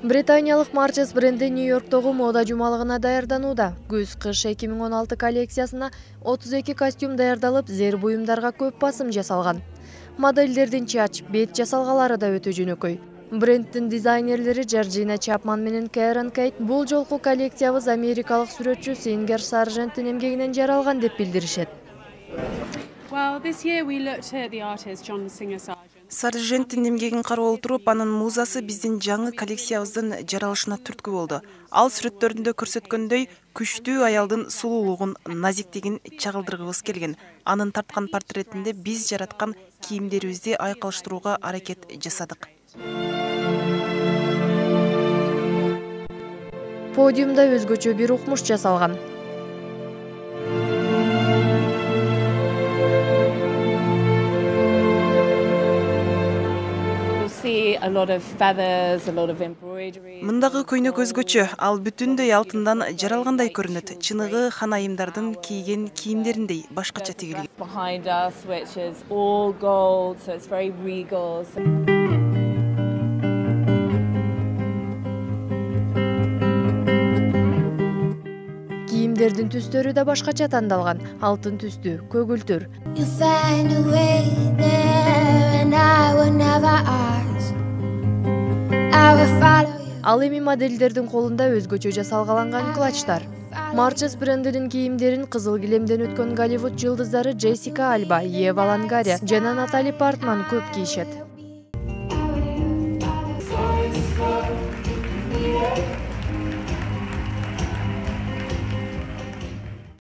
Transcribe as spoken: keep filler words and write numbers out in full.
Британиялык Marches бренди Нью-Йорктогу мода жумалыгына даярданууда. Күз-кыш эки миң он алты коллекциясына отуз эки костюм даярдалып, зер буюмдарга көп басым жасалган. Модельдердин чач, бет жасалгалары да өтө жөнөкөй. Бренддин дизайнерлери Джорджина Чапман менен Кэрон Кейт бул жолку коллекциябыз америкалык сүрөтчү Сингер Сарженттин эмгегинен жаралган деп билдиришет. Сарженттин эмгегин карап отуруп, анын музасы биздин жаңы коллекциябыздын жаралышына түрткү болду. Ал сүрөттөрүндө көрсөткөндөй күчтүү аялдын сулуулугун, назиктигин чагылдыргыбыз келген. Анын тарткан портретинде биз жараткан кийимдерибизди айкалыштырууга аракет жасадык. Подиумда өзгөчө бир укмуш жасалган. Мындагы көйнөк өзгөчө, ал бүтүндөй алтындан жаралгандай көрүнөт. Чыныгы хан айымдардын кийген кийимдериндей башкача тигилген. Кийимдердин түстөрү да башкача тандалган. Алтын түстүү, көгүлтүр. Ал эми модельдердин колунда өзгөчө жасалгаланган клатчтар. Marches брендинин кийимдерин кызыл килемден өткөн Голливуд жылдыздары Джессика Альба, Ева Лонгариа жана Натали Портман көп кийишет.